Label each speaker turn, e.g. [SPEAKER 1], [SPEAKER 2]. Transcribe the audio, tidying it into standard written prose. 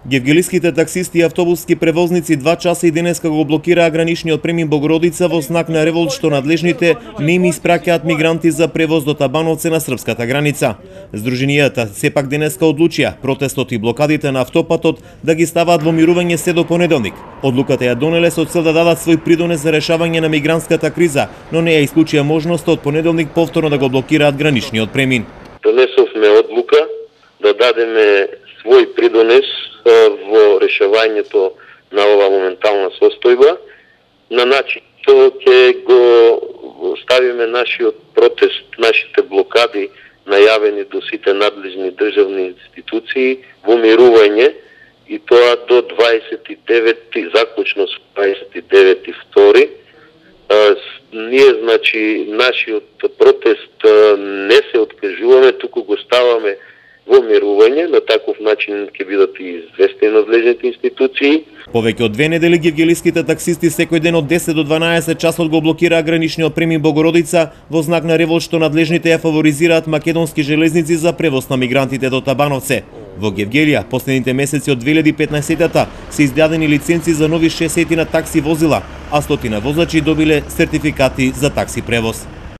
[SPEAKER 1] Гевгелиските таксисти и автобуски превозници 2 часа и денеска го блокираа граничниот премин Богородица во знак на револт што надлежните не им испраќаат мигранти за превоз до Табановце на српската граница. Здруженијата сепак денеска одлучија протестот и блокадите на автопатот да ги ставаат во мирување се до понеделник. Одлуката ја донеле со цел да дадат свој придонес за решавање на мигрантската криза, но не ја исклучија можноста од понеделник повторно да го блокираат граничниот премин.
[SPEAKER 2] Донесовме одлука да дадеме свој придонес во решавањето на ова моментална состојба, на начин што ќе го ставиме нашиот протест, нашите блокади најавени до сите надлежни државни институции во мирување, и тоа до 29, заклучно со 29.2. Ние, значи, нашиот протест не се откажуваме, туку го ставаме во мирување, на таков начин ќе бидат и известени надлежните институции.
[SPEAKER 1] Повеќе од 2 недели гевгелиските таксисти секој ден од 10 до 12 часот го блокираа граничниот премин Богородица во знак на револт што надлежните ја фаворизираат македонски железници за превоз на мигрантите до Табановце. Во Гевгелија последните месеци од 2015-та се издадени лиценци за нови 60 такси возила, а 100 возачи добиле сертификати за такси превоз.